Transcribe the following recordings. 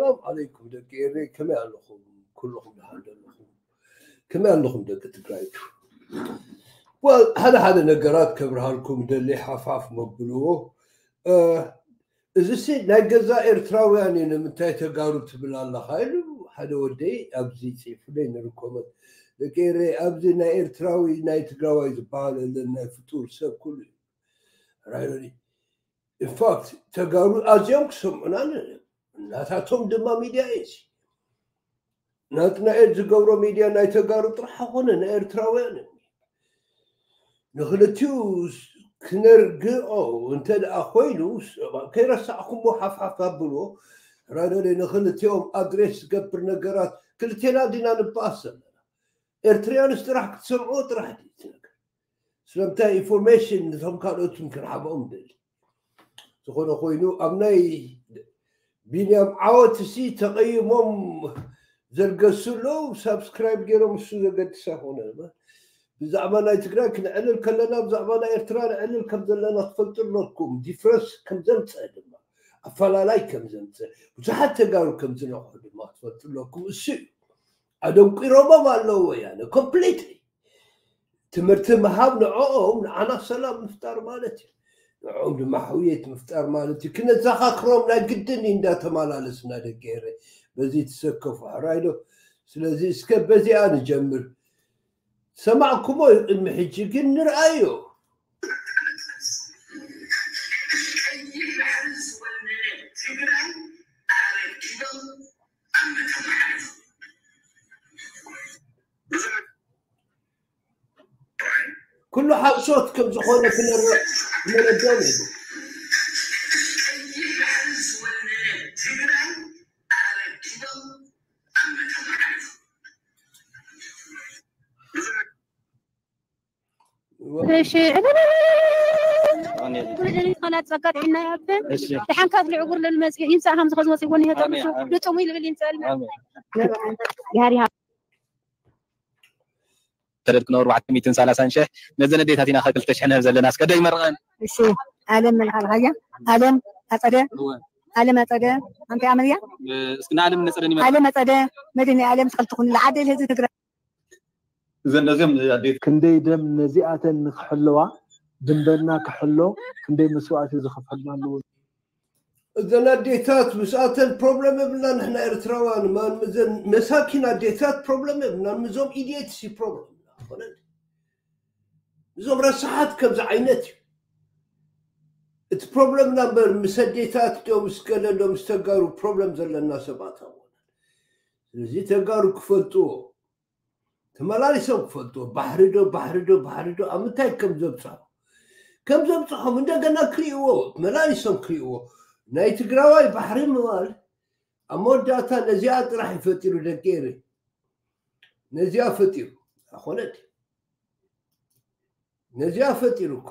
ሰላም ዓለይኩም ደቂ ኤረይ፣ ከመይ ኣለኹም? ኩልኹም ደሓን ዶ ኣለኹም? ከመይ ኣለኹም ደቂ ትግራይ? Well፣ ሓደ ሓደ ነገራት ከብርሃልኩም ደሊ፣ ሓፍሓፍ መብልዎ። እ፣ እዚሲ ናይ ገዛ ኤርትራውያን እዩ፣ ንምንታይ ተጋሩ ትብል ኣለኻ? ኢሉ ሓደ ወደይ ኣብዚ ጽሑፉለይ ንርኮመት። ደቂ ኤረይ፣ ኣብዚ ናይ ኤርትራዊ ናይ ትግራዋይ ዝበሃል የለን፣ ናይ ፍጡር ሰብ ኩሉ እዩ። ራይት? ኢንፋክት ተጋሩ ኣዝዮም ክሰምዑና ን-፣ ናታቶም ድማ ሚድያ እዩ። ናትናኤል ዝገብሮ ሚድያ ናይ ተጋሩ ጥራሕ ኣይኮነ፣ ናይ ኤርትራውያን እዩ። ንክልቲኡ ስ-፣ ክነርግኦ እንተ ደኣ ኮይኑ፣ ስ-፣ ከይረሳዕኩሞ ሓፍሓፍ ኣብልዎ። ራይት? ንክልቲኦም ኣድሬስ ዝገብር ነገራት፣ ክልቴና ዲና ንበኣስ ዘለና? ኤርትራውያንስ ጥራሕ ክትሰምዕዎ ጥራሕ ድዩ እቲ ነገር? ስለምንታይ ኢንፎርሜሽን ነቶም ካልኦትን ክንሃቦም ደሊ። ዝኾነ ኮይኑ ኣብ ናይ ቢንያም ዓወት እሲ ተቐይሞም ዘርገሱ ኣለዉ፣ ሳብስክራይብ ገይሮም እሱ ዘገድስ ኣይኮነ። ብዛዕባ ናይ ትግራይ ክነዕልል ከለና ብዛዕባ ናይ ኤርትራ ነዕልል ከም ዘለና ትፈልጡ ኣለኩም። ዲፍረንስ ከም ዘምፀ ድማ ኣፈላላይ ከም ዘምፀ ብዙሓት ተጋሩ ከም ዝነቕሑ ድማ ትፈልጡ ኣለኩም። እሱ እዩ ኣደንቂሮሞም ኣለዉ ወያነ ኮምፕሊትሊ። ትምህርቲ ምሃብ ንዕኦም ንዓና ሰላም ምፍጣር ማለት እዩ። ንዕኦም ድማ ሕውየት ምፍጣር ማለት እዩ። ክነዘኻኽሮም ናይ ግድን እዩ እንዳተመላለስና ደቂ ኤረ በዚ ትሰከፉ ሕራይ ዶ። ስለዚ እስከ በዚኣ ንጀምር። ሰማዕኩሞ እዩ ቅድሚ ሕጂ ግን ንርኣዮ። ኩሉ ሓሶት ከም ዝኾነ ክነረ-፣ ክነረድኦም እዩ። እሺ። ኩሉ ሌሊት ኸላ ጸጋ ጥዕና ይሃብን። እሺ። ደሓን ካብ ልዕጉር ለልመጽእ ይምጻእ፣ ሃምዚ ኸዚ ወጺእዎ እኒሀ፣ ኣሜን፣ ጠሚሱ ኣሜን። ልጥሙ ይልብል ይምጻእ። ኣሜን። ያሪሃ። ተደድክኖ ኣርባዕተ ሚእትን ሰላሳን ሽሕ፣ ነዘን ኣዴታት ኢና ከ ክልተ ሽሕ ንህብ ዘለና። እስከ ዶ ይመርቐን? እሺ። ኣለም መልካ ብሃያ፣ ኣለም ኣጸደ፣ እወ። ኣለም ኣጸደ፣ ኣንተ ኣመልያ? እ፣ እስኪ ንኣለም ነጸደን ይመርቐን። ኣለም ኣጸደ፣ መድኒ ኣለም ዝኸልትኹን ለዓደ ለህዝቢ ትግራይ። እዘን ነዚኦም ኣዴት ክንደይ ደም ነዚኣተን ንክሕለዋ፣ ድንበርና ክሕሎ ክንደይ መስዋእቲ ዝኸፈልና ኣለዎ። እዘን ኣዴታት ምስኣተን ፕሮብለም የብልና፣ ንሕና ኤርትራውያን ማን፣ ምዘን መሳኪን ኣዴታት ፕሮብለም የብልና፣ ምዞም ኢዲየትስ እዩ ፕሮብለም። ኮነ እዞም ረሳሓት ከምዚ ዓይነት እዩ እቲ ፕሮብለምና እምበር፣ ምስ ኣዴታት ዶ ምስ ገለ ዶ ምስ ተጋሩ ፕሮብለም ዘለና ሰባት ኣይኮነን። ስለዚ ተጋሩ ክፈልጥዎ፣ ተመላሊሶም ክፈልጥዎ፣ ባሕሪ ዶ፣ ባሕሪ ዶ፣ ባሕሪ ዶ፣ ኣብ ምንታይ ከም ዘብጽሖ፣ ከም ዘብጽሖም እንደገና ክርእይዎ፣ መላሊሶም ክርእይዎ። ናይ ትግራዋይ ባሕሪ ምባል ኣብ መወዳእታ ነዚኣ ጥራሕ እዩ ፈጢሩ፣ ደቂ ኤረ። ነዚኣ ፈጢሩ። ኣኾነት ነዚኣ ፈጢሩ እኮ።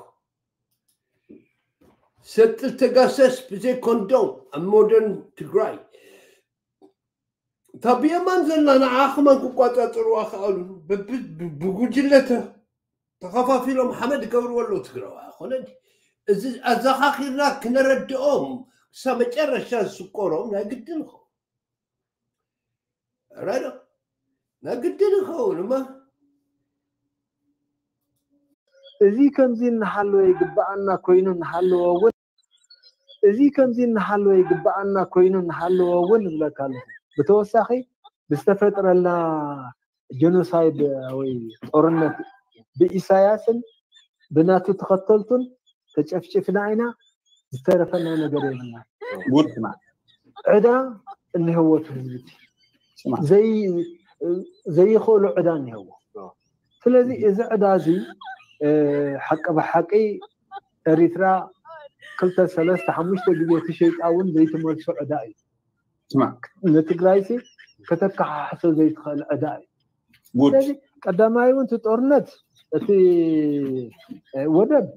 ሰጥል ተጋሰስ ብዘይ ኮንዶም ኣብ ሞደርን ትግራይ። እታ ብየማን ዘላ ንዓ ከማን ክቋጻጸርዋ ከኣሉ። ብብ-፣ ብ-፣ ብጉጅለ ተ-፣ ተኸፋፊሎም ሓመድ ይገብርዎ ኣለዉ ትግራዋይ። ኣኾነ ድዩ? እዚ ኣዘኻኺርና ክነረድኦም ክሳብ መጨረሻ ዝስቆሮም ናይ ግድን ይኸውን። ራይዶ ናይ ግድን ይኸውን እማ። እዚ ከምዚ እናሃለወ ይግብኣና ኮይኑ እናሃለወ እውን፣ እዚ ከምዚ እናሃለወ ይግብኣና ኮይኑ እናሃለወ እውን እብለካ ኣለኹ። ብተወሳኺ ብዝተፈጥረልና ጀኖሳይድ ወይ ጦርነት ብኢሳያስን ብናቱ ተኸተልቱን ተጨፍጭፍና ኢና፣ ዝተረፈና ነገር የብልና። ጉድ። ዕዳ እኒሀዎ እቲ ህዝቢ እቲ። ስማ። ዘይ-፣ ዘይኽእሎ ዕዳ እኒሀዎ። ስለዚ እዚ ዕዳ እዚ፣ እ፣ ሓቂ ብሓቂ ኤሪትራ ክልተ፣ ሰለስተ፣ ሓሙሽተ ግዜ ተሸይጣ እውን ዘይትመልሶ ዕዳ እዩ። ስማ። ንትግራይሲ ከተከሓሕሶ ዘይትኽእል ዕዳ እዩ። ጉድ። ስለዚ ቀዳማይ እውን እቲ ጦርነት፣ እቲ፣ እ፣ ወደብ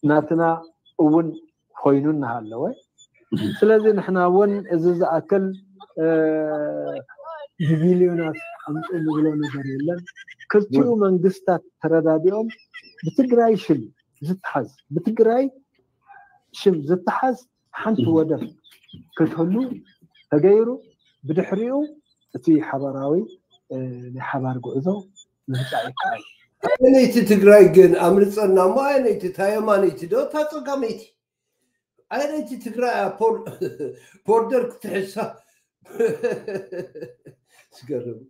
ናትና እውን ኮይኑ እናሃለወ፣ ስለዚ ንሕና እውን እዚ ዝኣክል፣ እ፣ ብቢልዮናት ኣምፅኡ ንብሎ ነገር የለን። ክልቲኡ መንግስታት ተረዳዲኦም ብትግራይ ሽም ዝተሓዝ፣ ብትግራይ ሽም ዝተሓዝ ሓንቲ ወደብ ክትህሉ ተገይሩ ብድሕሪኡ እቲ ሓባራዊ ናይ ሓባር ጉዕዞ ምህፃእ ይከኣል። ኣየነይቲ ትግራይ ግን ኣምልፀና እሞ ኣየነይቲ ታየማነይቲ ዶ እታ ፀጋመይቲ ኣየነይቲ ትግራይ ቦርደር ክትሕሳ ዝገርም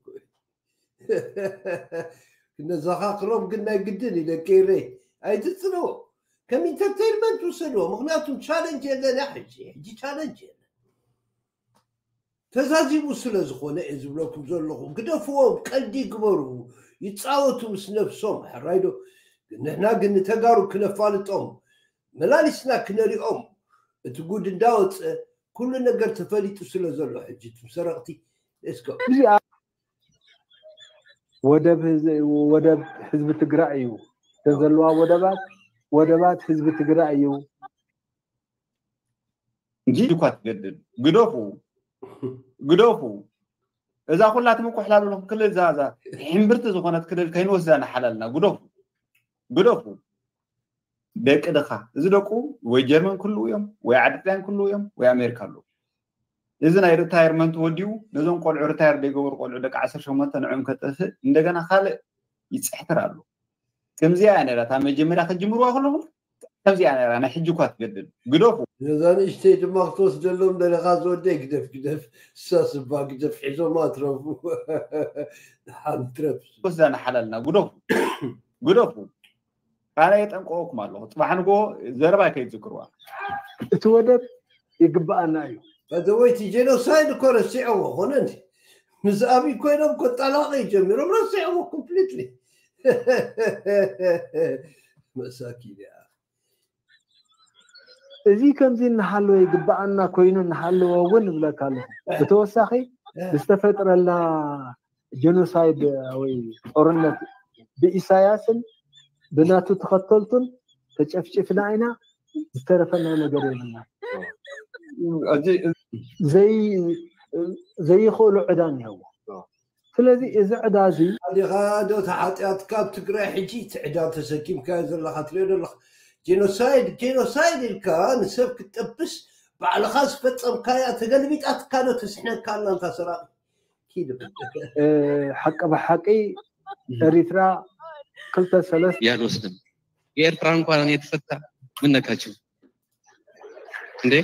ክነዘኻኽሮም ግን ናይ ግድን እዩ ደቂ ኤረይ ኣይትፅንዎ ከም ኢንተርቴይንመንት ውሰድዎ ምክንያቱም ቻለንጅ የለና ሕጂ ሕጂ ቻለንጅ የለን ተዛዚሙ ስለ ዝኾነ እየ ዝብለኩም ዘለኹ ግደፍዎም ቀልዲ ይግበሩ ይፃወቱ ምስ ነብሶም ሕራይዶ ንሕና ግን ንተጋሩ ክነፋልጦም መላሊስና ክነሪኦም እቲ ጉድ እንዳወፀ ኩሉ ነገር ተፈሊጡ ስለ ዘሎ ሕጂ ትም ሰረቕቲ እስከ እዚኣ ወደብ ህዝ- ወደብ ህዝቢ ትግራይ እዩ። እተን ዘለዋ ወደባት ወደባት ህዝቢ ትግራይ እዩ። እንጂ እኳ ትገድል ግደፉ ግደፉ እዛ ኩላ ትምኩሕላሉ ክልል እዛ እዛ ሕምብርቲ ዝኾነት ክልል ከይንወስዳ ንሓላልና ግደፉ ግደፉ ደቂ ድኻ እዚ ደቁ ወይ ጀርመን ክልው እዮም ወይ ዓድጥያን ክልው እዮም ወይ ኣሜሪካ ኣለዉ እዚ ናይ ሪታየርመንት ወዲኡ ነዞም ቆልዑ ሪታየር ዘይገበሩ ቆልዑ ደቂ ዓሰርተ ሸሞንተ ንዕም ከጥፍእ እንደገና ካልእ ይፅሕትር ኣሎ ከምዚኣ እያ ነራ እታ መጀመርያ ክጅምርዋ ከለኹም ከምዚኣ ነራ ናይ ሕጂ እኳ ትገድል ግደፉ ነዛ ንእሽተይ ድማ ክትወስደሎም ደለኻ ዝወደይ ግደፍ ግደፍ እሳ ስባ ግደፍ ሒዞማ ትረፉ ሓንትረፍ ወስዳ ንሓላልና ግደፉ ግደፉ ኣነ የጠንቀወኩም ኣለኹ ፅባሕ ንግሆ ዘረባ ከይትዝክርዋ እቲ ወደብ ይግባኣና እዩ ፈተወይቲ ጄኖሳይድ እኮ ረሲዐዎ ኮነ ምስ ኣብይ ኮይኖም ኮጣላቂ ጀሚሮም ረሲዐዎ ኮምፕሊትሊ መሳኪን እያ እዚ ከምዚ እናሃለወ ይግባኣና ኮይኑ እናሃለወ እውን እብለካ ኣለኹ ብተወሳኺ ዝተፈጥረልና ጀኖሳይድ ወይ ጦርነት ብኢሳያስን ብናቱ ተኸተልቱን ተጨፍጭፍና ኢና ዝተረፈና ነገር የብልና ዘይኽእሉ ዕዳ እኒሀዎ ስለዚ እዚ ዕዳ እዚ ኣዲኻ ዶ ተሓጢኣትካ ኣብ ትግራይ ሕጂ እቲ ዕዳ ተሰኪምካዮ ዘለካ ትሪኦ ዘለካ ጄኖሳይድ ጄኖሳይድ ኢልካ ንሰብ ክትጠብስ ባዕልኻ ዝፈፀምካያ ተገልቢጣትካ ዶ ተስሕነካ ኣላ እንታ ሰራቂ ኪድ ሓቂ ብሓቂ ኤሪትራ ክልተ ሰለስተ እያ ንወስድም የኤርትራ እንኳን እኔ ተፈታ ምን ነካችሁ እንዴ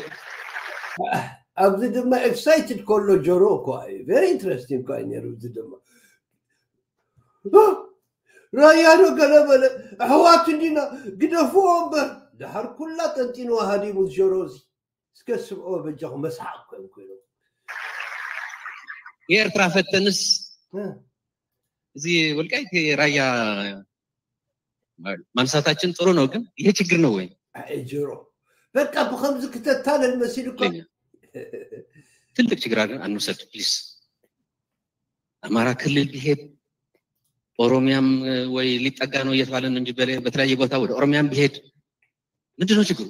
ኣብዚ ድማ ኤክሳይትድ ከሎ ጆሮ እኮ እዩ very interesting እኮ እዩ ነይሩ እዚ ድማ ራያ ዶ ገለ በለ ኣሕዋት እንዲና ግደፍዎ እምበር ድሓር ኩላ ጠንጢንዋ ሃዲሙ ጆሮ እዚ እስከ ስምዖ በጃኹ መስሓቅ እኮ እዮም ኮይኖም የኤርትራ ፈተንስ እዚ ወልቃይት ራያ ማንሳታችን ጥሩ ነው፣ ግን ይሄ ችግር ነው ወይ? ጆሮ በቃ ብከምዚ ክተታለል መሲሉ እኮ ትልቅ ችግር አድርገን አንውሰድ ፕሊስ። አማራ ክልል ቢሄድ ኦሮሚያም ወይ ሊጠጋ ነው እየተባለ ነው እንጂ በተለያየ ቦታ ወደ ኦሮሚያም ቢሄድ ምንድን ነው ችግሩ?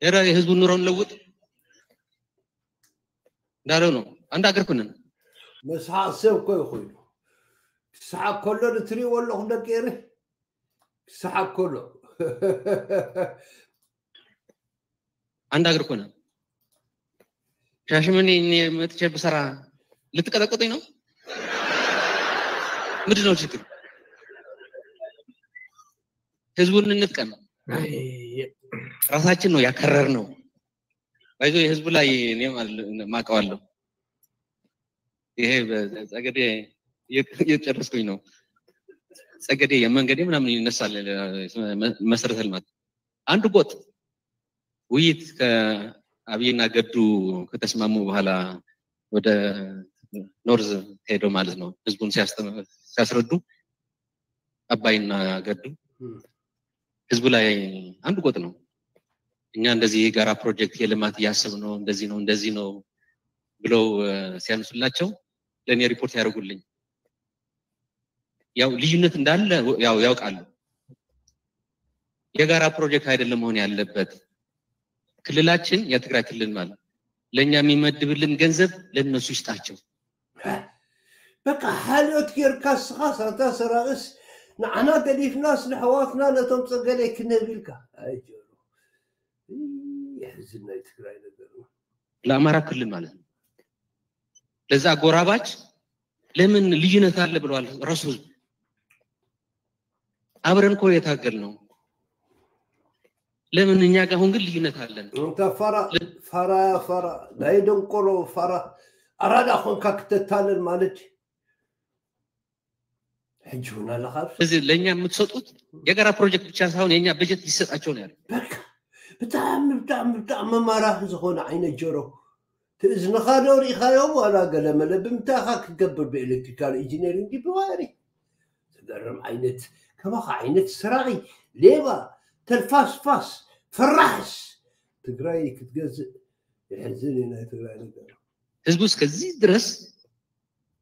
ኧረ የህዝቡን ኑሮ እንለውጥ እንዳለው ነው። አንድ አገር ኩንን መስሓቅ ሰብ እኮ ይኮይኑ ክስሓቅ ከሎ ንትሪእዎ ኣለኹም ደቂ ኤሪ ክስሓቅ ከሎ አንድ አገር ኩንን ሻሽመኔ እኔ መጥቼ ብሰራ ልትቀጠቅጡኝ ነው? ምንድን ነው ችግር? ህዝቡን እንጥቀም። ራሳችን ነው ያከረር ነው። ባይዞ የህዝቡ ላይ እኔ ማቀዋለሁ። ይሄ ጸገዴ እየጨረስኩኝ ነው። ጸገዴ የመንገዴ ምናምን ይነሳል መሰረተ ልማት አንድ ጎጥ ውይይት ከአብይና ገዱ ከተስማሙ በኋላ ወደ ኖርዝ ሄዶ ማለት ነው ህዝቡን ሲያስረዱ አባይና ገዱ ህዝቡ ላይ አንድ ጎጥ ነው። እኛ እንደዚህ የጋራ ፕሮጀክት የልማት እያሰብ ነው እንደዚህ ነው እንደዚህ ነው ብለው ሲያነሱላቸው ለእኔ ሪፖርት ያደርጉልኝ። ያው ልዩነት እንዳለ ያው ያውቃሉ። የጋራ ፕሮጀክት አይደለም መሆን ያለበት። ክልላችን የትግራይ ክልል ማለት ለእኛ የሚመድብልን ገንዘብ ለእነሱ ይስጣቸው። በቃ ሓልዮት ጌርካ ስኻ ሳንታ ሰራቅስ ንዓና ገዲፍናስ ንሕዋትና ነቶም ጸገለይ ክንህብ ኢልካ ኣይጀሩ የሕዝን ናይ ትግራይ ነገር ለአማራ ክልል ማለት ነው። ለዛ አጎራባች ለምን ልዩነት አለ ብለዋል ረሱል። አብረን እኮ የታገል ነው። ለምን እኛ ጋር አሁን ግን ልዩነት አለን? እንተ ፋራ ፋራ ፋራ ናይ ደንቆሮ ፋራ አራዳ ኮንካ ክተታለል ማለት ሕጂ እውን ኣለኻ ኣብዚ። እዚ ለእኛ የምትሰጡት የጋራ ፕሮጀክት ብቻ ሳይሆን የእኛ በጀት ሊሰጣቸው ነው ያለ። በቃ ብጣዕሚ ብጣዕሚ ብጣዕሚ መማራኺ ዝኾነ ዓይነት ጀሮ። እዝንኻ ዶ ርኢኻዮም ዋላ ገለመለ ብምንታይ ኢኻ ክትገብር ብኤሌክትሪካል ኢንጂነሪንግ ድዩ ብዋየሪ? ዝገርም ዓይነት ከማኻ ዓይነት ሰራቒ ሌባ ተልፋስፋስ ፈራሕስ ትግራይ ክትገዝእ የሕዝን እዩ ናይ ትግራይ ነገር። ህዝቡ እስከዚህ ድረስ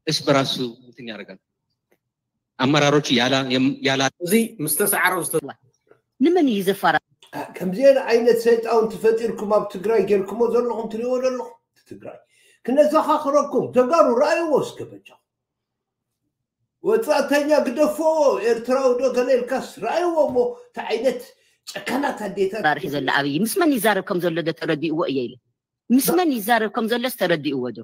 እርስ በራሱ እንትን ያደርጋል። አመራሮች ያላ ያላ እዚ ምስ ተሰዓረ ዝተዋ ንመን እዩ ዘፋራ ከምዚአን ዓይነት ሰይጣውንቲ ፈጢርኩም ኣብ ትግራይ ጌርኩሞ ዘለኹም ትሪእዎ ዘለኹም ትግራይ ክነዘኻኽረኩም ተጋሩ ረኣይዎ እስከ በጃ ወፃእተኛ ግደፎ ኤርትራዊ ዶ ገለ ኢልካስ ረኣይዎ እሞ እቲ ዓይነት ጨካናት ኣዴታት ራርሒ ዘሎ ኣብይ ምስ መን ይዛረብ ከም ዘሎ ዶ ተረዲእዎ እየ ኢለ ምስ መን ይዛረብ ከም ዘሎስ ተረዲእዎ ዶ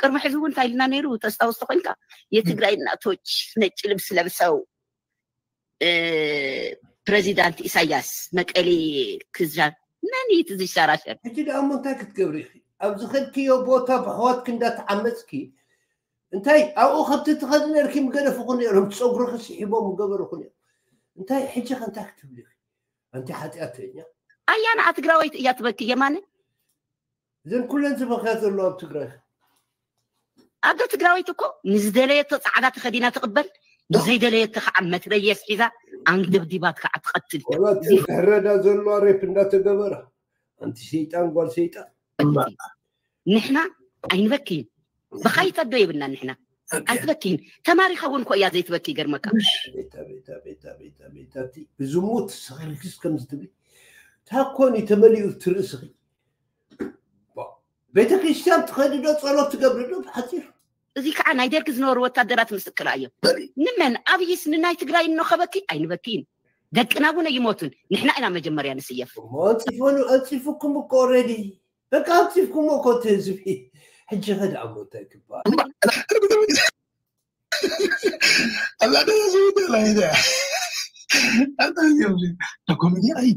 ቅድሚ ሕዚ እውን እንታይ ኢልና ነይሩ ተስታውስቶ ኮይንካ የትግራይ እናቶች ነጭ ልብስ ለብሰው እ፣ ፕሬዚዳንት ኢሳያስ መቀሌ ክዛ መን እዩ እቲ ዝሸራሸር ሕጂ ደኣ እሞ እንታይ ክትገብሪ ኢኺ ኣብዚ ከድክዮ ቦታ ብኣሕዋትኪ እንዳተዓመፅኪ እንታይ ኣብኡ ከብቲ ትኸዲ ነርኪ ምገደፍኹ ነይሮም ፀጉርኺ ስሒቦም ምገበርኹ ነይሮም እንታይ ሕጂ ከ እንታይ ክትብሊ ኢኺ ኣንቲ ሓጢኣተኛ ኣያና ትግራወይቲ እያ ትበኪ የማነ እዘን ኩለን ዝበኽያ ዘለዋ ኣብ ትግራይ ኣዶ ትግራወይቲ እኮ ንዝደለየቶ ፃዕዳ ተኸዲና ትቕበል ንዘይደለየቶ ከዓ መትረየስ ሒዛ ኣንደብዲባት ከዓ ትቐትል እያ። ወላ እቲ ዝሕረዳ ዘለዋ ሬፕ እንዳተገበረ ኣንቲ ሰይጣን ጓል ሰይጣን ንሕና ኣይንበክይን ብኻይት ኣዶ የብልና ንሕና ኣይትበክይን ተማሪኻ እውን ኮ እያ ዘይትበኪ ይገርመካ ቤታ ቤታ ቤታ ቤታ ቤታ እቲ ብዝሙት ሰኺርክስ ከምዚ ትብሊ ታኮን እዩ ተመሊኡ እቲ ርእስኺ ቤተ ክርስቲያን ትኸዲ ዶ ጸሎት ትገብሪ ዶ ብሓፂር እዚ ከዓ ናይ ደርጊ ዝነበሩ ወታደራት ምስክር እዮም ንመን ኣብይስ ንናይ ትግራይ እኖ ከበኪ ኣይንበክይን ደቅና እውን ኣይሞቱን ንሕና ኢና መጀመርያ ንስየፍ እሞ ኣንፂፎ ኣንፂፉኩም እኮ ኦልሬዲ በቃ ኣንፂፍኩሞ እኮ እቲ ህዝቢ ሕጂ ከ ደኣ እሞ እንታይ ክበሃል ኣላ ደዛ ዝውደላ ኢዳ ኣታ ኮሜዲ ኣይ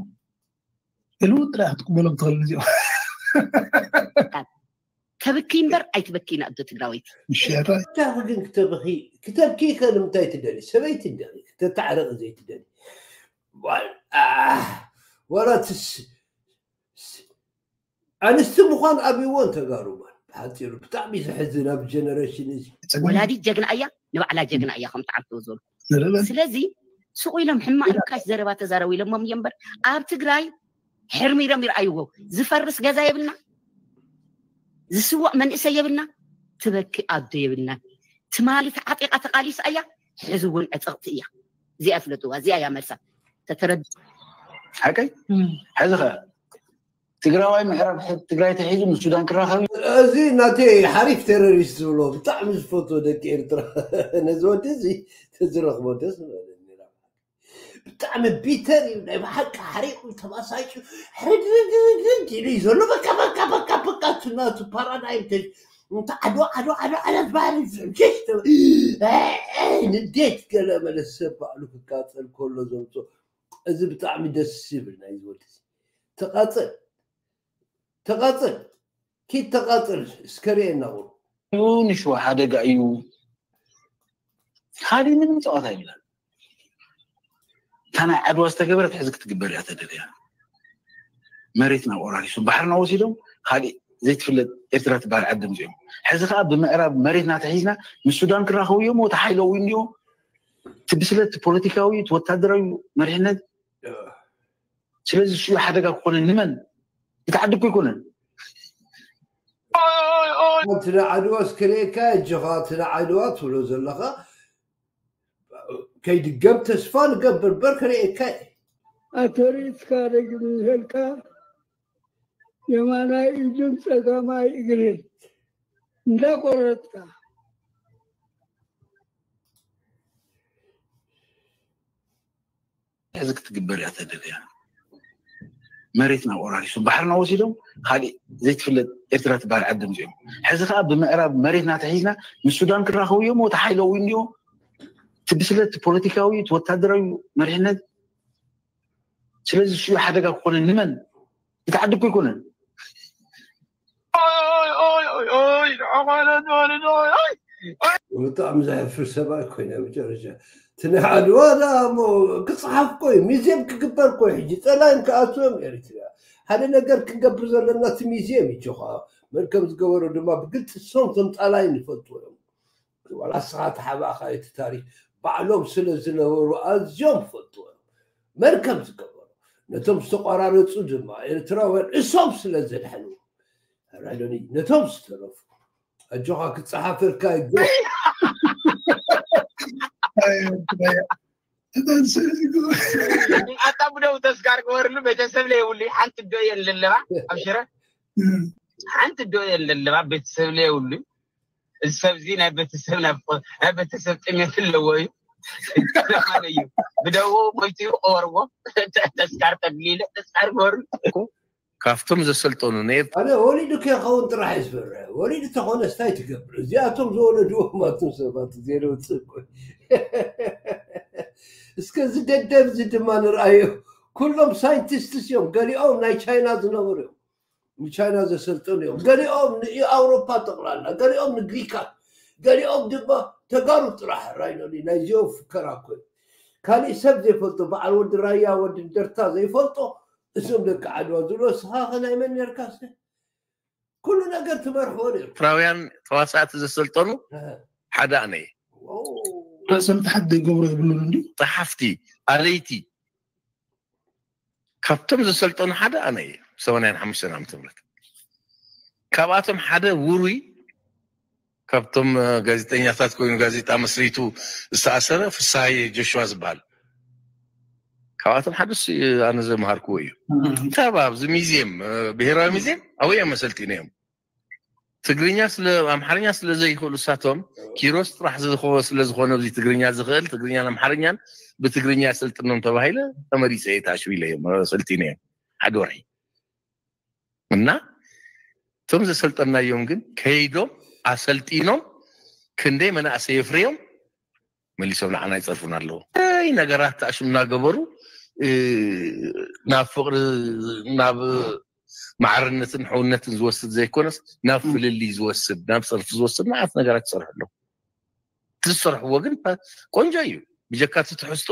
ህልው ጥራሕ ክትቅበሎም ትኽእል እዚኦም ተብኪ እምበር ኣይትበኪን ኣዶ ትግራወይቲ ምሽያታ እንታይ ግን ክተብኺ ክተብኪ ከ ንምንታይ ትደሊ ሰበይቲ እንዲኺ ክተተዓረቂ ዘይትደሊ ዋላ ትስ ኣንስቲ ምዃን ኣብይዎን ተጋሩ ማን ብሓፂሩ ብጣዕሚ ዘሕዝን ኣብ ጀነሬሽን እዚ ወላዲት ጀግና እያ ንባዕላ ጀግና እያ ከምቲ ዓርተው ዝበሉ ስለዚ ሱቕ ኢሎም ሕማቕ ርካሽ ዘረባ ተዛረቡ ኢሎሞም እዮም እምበር ኣብ ትግራይ ሕርሚሮም ይርኣይዎ ዝፈርስ ገዛ የብልና ዝስዋእ መንእሰይ የብልና ትበኪ ኣዶ የብልና ትማሊ ተዓጢቓ ተቓሊሳ እያ ሕዚ እውን ዕፅቕቲ እያ እዚኣ ፍለጥዋ እዚኣ እያ መልሳ ተተረድ ሓቀይ ሕዚ ኸ ትግራዋይ ምዕራብ ትግራይ ተሒዙ ምስ ሱዳን ክራኸብ እዩ እዚ ናተይ ሓሪፍ ቴሮሪስት ዝብሎ ብጣዕሚ ዝፈትዎ ደቂ ኤርትራ ነዚ ወዲ እዚ ተዝረኽቦ ደስ ዝበለኒ ብጣዕሚ ቢተር እዩ ናይ ብሓቂ ሓሪቑ ተባሳጩ ሕድርድርድርድ ኢሉ እዩ ዘሎ በቃ በቃ በቃ በቃ እቲ ናቱ ፓራዳይም ተ እንተ ዓድዋ ዓድዋ ዓድዋ ዓድዋ ዝበሃል ጀሽ ንዴት ገለ መለ ሰብ ባዕሉ ክቃፀል ከሎ ዘምፅኦ እዚ ብጣዕሚ ደስ ይብል ናይ ዝወዲ ተቃፅል ተቃፅል ኪድ ተቃፅል እስከ ርኤና ቁሩ ንሽዋ ሓደጋ እዩ ካሊእ ምንም ፀዋታ ይብላል እታ ናይ ዓድዋ ዝተገበረት ሕዚ ክትግበር እያ ተደልያ መሬትና ቆራሪሱ ባሕርና ወሲዶም ካሊእ ዘይትፍለጥ ኤርትራ ትበሃል ዓዲ ምፅኦም ሕዚ ከዓ ብምዕራብ መሬትና ተሒዝና ምስ ሱዳን ክራኸቡ እዮም ተሓይለው እንዲዮ እቲ ብስለት ፖለቲካዊ እቲ ወታደራዊ መሪሕነት ስለዚ ሽኡ ሓደጋ ክኾነ ንመን እቲ ዓዲ እኮ ይኮነን እቲ ንዓድዋ እስከርእየካ እጆኻ እቲ ንዓድዋ ትብሎ ዘለኻ ከይድገም ተስፋ ንገብር በር ከርእየካ ኣተሪትካ ደግም ንህልካ የማናይ ኢድን ፀጋማይ እግርን እንዳቆረጥካ ሕዚ ክትግበር እያ ተደልያ መሬትና ወራሪሶም ባሕርና ወሲዶም፣ ካሊእ ዘይትፍለጥ ኤርትራ ትበሃል ዓዲ ምፅኦም። ሕዚ ከዓ ብምዕራብ መሬትና ተሒዝና ምስ ሱዳን ክራኸቡ እዮም። ተሓይለው እንዲዮ እቲ ብስለት፣ እቲ ፖለቲካዊ፣ እቲ ወታደራዊ መሪሕነት። ስለዚ እሱ ሓደጋ ክኾነ ንመን? እቲ ዓዲ እኮ ኣይኮነን። ብጣዕሚ ዘሕፍር ሰብኣይ ኮይነ መጨረሻ። እቲ ናይ ዓድዋ ደኣ እሞ ክፅሓፍ ኮይ፣ ሚዜም ክግበር ኮይ። ሕጂ ፀላይን ክኣትዎም ኤርትራ ሓደ ነገር ክንገብር ዘለና እቲ ሚዜም እዩ። ጆኻ መን ከም ዝገበሮ ድማ ብግልፂ እሶም ከም ፃላይን ይፈልጡ እዮም። ዋላ ንስኻ ተሓባእኻ እቲ ታሪክ ባዕሎም ስለ ዝነበሩ ኣዝዮም ይፈልጡ እዮም መን ከም ዝገበሩ። ነቶም ዝተቋራረፁ ድማ ኤርትራውያን እሶም ስለ ዘድሐኑ ራይዶኒ ነቶም ዝተረፉ ኣጆኻ ክፀሓፈልካ ይግባእ። ኣታ ብደው ተስጋር ክበርሉ ቤተሰብ ለየብሉ ሓንቲ ዶ የለለባ ኣብ ሽረ ሓንቲ ዶ የለለባ ቤተሰብ ለየብሉ እዚ ሰብዚ ናይ ቤተሰብ ናይ ቤተሰብ ጥሜት ኣለዎ እዩ። እዩ ብደዎ ሞይቱ እዩ ቀበርዎ ተስካር ተድሊለ ተስካር ክበርሉ ካብቶም ዘሰልጠኑ ኣነ ወሊዱ ከይኸውን ጥራሕ እዩ ዝፈርሕ። ወሊዱ ተኾነ ስታይ ትገብር? እዚኣቶም ዝወለድዎም ኣቶም ሰባት እዚኤ ውፅእ እኮ እስከ እዚ ደደብ እዚ ድማ ንርኣዮ። ኩሎም ሳይንቲስትስ እዮም። ገሊኦም ናይ ቻይና ዝነበሩ እዮም። ንቻይና ዘሰልጠኑ እዮም። ገሊኦም ንኣውሮፓ ጠቕላላ፣ ገሊኦም ንግሪካት፣ ገሊኦም ድማ ተጋሩ ጥራሕ ራይኖኒ ናይዚኦም ፍከራ ኮይኑ ካሊእ ሰብ ዘይፈልጦ በዓል ወዲ ራያ ወዲ እንደርታ ዘይፈልጦ እዞም ደቂ ዓድዋ ዝብሎ እስኻ ኸ ናይ መን ነርካስ? ኩሉ ነገር ትመርሕዎ ነርኩም። ኤርትራውያን ተዋሳእቲ ዘሰልጠኑ ሓደ ኣነ እየ። ርእሰ ምትሓት ዘይገብሮ የብሉን እንዲ ጸሓፍቲ ኣለይቲ ካብቶም ዘሰልጠኑ ሓደ ኣነ እየ። ሰማንያን ሓሙሽተን ዓመተ ምህረት ካብኣቶም ሓደ ውሩይ ካብቶም ጋዜጠኛታት ኮይኑ ጋዜጣ መስሪቱ ዝተኣሰረ ፍስሃየ ጆሽዋ ዝበሃል ካብኣቶም ሓደ እሱ እዩ። ኣነ ዘምሃርክዎ እዩ። እንታይ ኣብዚ ሚዚየም ብሄራዊ ሚዚየም ኣብኡ እዮም ኣሰልጢኖም። ትግርኛ ስለ ኣምሓርኛ ስለ ዘይኽእሉ እሳቶም ኪሮስ ጥራሕ ዝኸ- ስለ ዝኾነ ኣብዚ ትግርኛ ዝኽእል ትግርኛን ኣምሓርኛን ብትግርኛ ኣሰልጥኖም ተባሂለ ተመሪፀ እየ። ታሽቢለ እዮም ኣሰልጢኖ እዮም ሓደ ወርሒ እና እቶም ዘሰልጠናዮም ግን ከይዶም ኣሰልጢኖም ክንደይ መናእሰይ የፍርዮም መሊሶም ንዓና ይፀርፉና ኣለዉ። ይ ነገራት ተኣሽም እናገበሩ ናብ ፍቅሪ ናብ ማዕርነትን ሕውነትን ዝወስድ ዘይኮነስ ናብ ፍልልይ ዝወስድ ናብ ፀርፊ ዝወስድ መዓት ነገራት ይሰርሑ ኣለዉ። እቲ ዝሰርሕዎ ግን ቆንጆ እዩ። ብጀካ እቲ ትሕዝቶ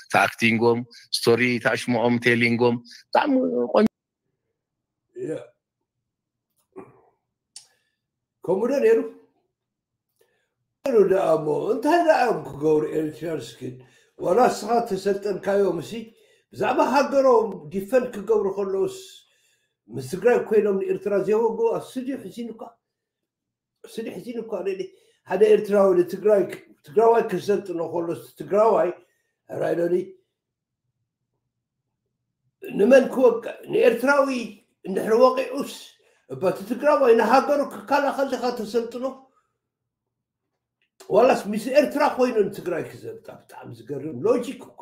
እቲ ኣክቲንጎም ስቶሪ ተኣሽሞኦም ቴሊንጎም ብጣዕሚ ቆንጆ ከምኡ ዶ ነይሩ? ነይሩ ደኣ እሞ እንታይ ደኣ እዮም ክገብሩ ኤሪትሪያንስ ግን ዋላ ንስኻ ተሰልጠንካዮም እሲ ብዛዕባ ሃገሮም ዲፈንድ ክገብሩ ከለውስ ምስ ትግራይ ኮይኖም ንኤርትራ ዘይወግኡ ኣብ ስቱድዮ ሕዚን እኳ ስቱድዮ ሕዚን እኳ ሓደ ኤርትራዊ ንትግራይ ትግራዋይ ክሰልጥኖ ከሎስ ትግራዋይ ራይዶኒ ንመን ክወቅዕ ንኤርትራዊ እንድሕሪ ወቂዑስ እባ እቲ ትግራዋይ ንሃገሩ ክከላኸል ዲኻ ተሰልጥኖ ዋላስ ምስ ኤርትራ ኮይኑ ንትግራይ ክዘልጣ ብጣዕሚ ዝገርም ሎጂክ እኳ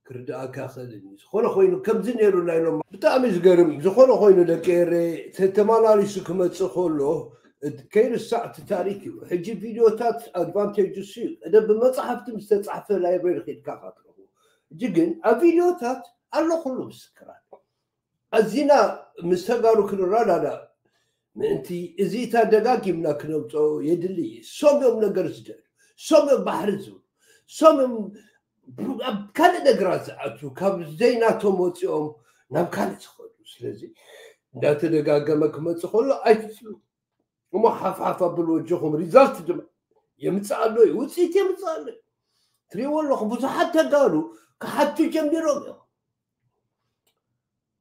ክርዳእካ ክእል ዝኾነ ኮይኑ ከምዚ ነይሩ ናይ ሎም ብጣዕሚ ዝገርም ዝኾነ ኮይኑ ደቂ ኤረ ተተማላሊሱ ክመፅእ ከሎ ከይርሳዕ እቲ ታሪክ እዩ ሕጂ ቪድዮታት ኣድቫንቴጅ እሱ እዩ ቀደም ብመፅሓፍቲ ምስ ተፃሕፈ ላይብረሪ ኬድካ ካትረኹ ሕጂ ግን ኣብ ቪድዮታት ኣሎ ኩሉ ምስክራት ኣዚና ምስ ተጋሩ ክንረዳዳ ምእንቲ እዚ እታ ደጋጊምና ክነምፀኦ የድሊ እዩ። ሶም እዮም ነገር ዝደልዩ፣ ሶም እዮም ባሕሪ ዝብሉ፣ ሶም እዮም ኣብ ካልእ ነገራት ዝኣትዉ፣ ካብ ዘይናቶም ወፂኦም ናብ ካልእ ዝኸዱ። ስለዚ እንዳተደጋገመ ክመፅእ ከሎ ኣይትፅሉ። እሞ ሓፍሓፍ ኣብሉ ወጆኹም ሪዛልት ድማ የምፅእ ኣሎ እዩ፣ ውፅኢት የምፅእ ኣሎ እዩ። ትሪእዎ ኣለኹም ብዙሓት ተጋሩ ክሓቱ ጀሚሮም እዮም።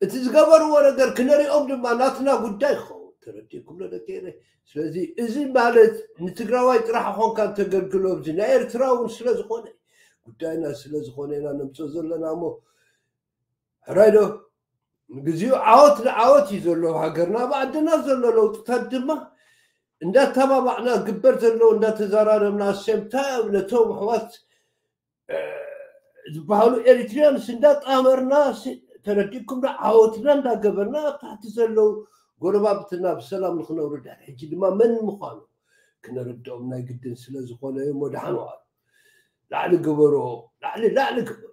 እቲ ዝገበርዎ ነገር ክነሪኦም ድማ ናትና ጉዳይ ክኸውን ተረዲእኩም ዶ ደቂ ኤረይ? ስለዚ እዚ ማለት ንትግራዋይ ጥራሕ ኾንካ እንተገልግሎ ኣብዚ ናይ ኤርትራ እውን ስለ ዝኾነ ጉዳይና ስለ ዝኾነ ኢና ነምፅኦ ዘለና እሞ ሕራይ ዶ ንግዚኡ ዓወት ንዓወት እዩ ዘሎ ሃገርና ኣብ ዓድና ዘሎ ለውጥታት ድማ እንዳተባባዕና ግበር ዘለዎ እንዳተዘራረብና ሴምታ ነቶም ኣሕዋት ዝበሃሉ ኤሪትሪያንስ እንዳጣመርና ተረዲእኩም ዶ? ዓወትና እንዳገበርና ኣብ ታሕቲ ዘለዉ ጎረባብትና ብሰላም ንክነብሩ ድሕሪ ሕጂ ድማ መን ምዃኑ ክነረድኦም ናይ ግድን ስለ ዝኾነ እሞ ደሓን ዋሉ። ላዕሊ ግበሮ፣ ላዕሊ ላዕሊ ግበሮ።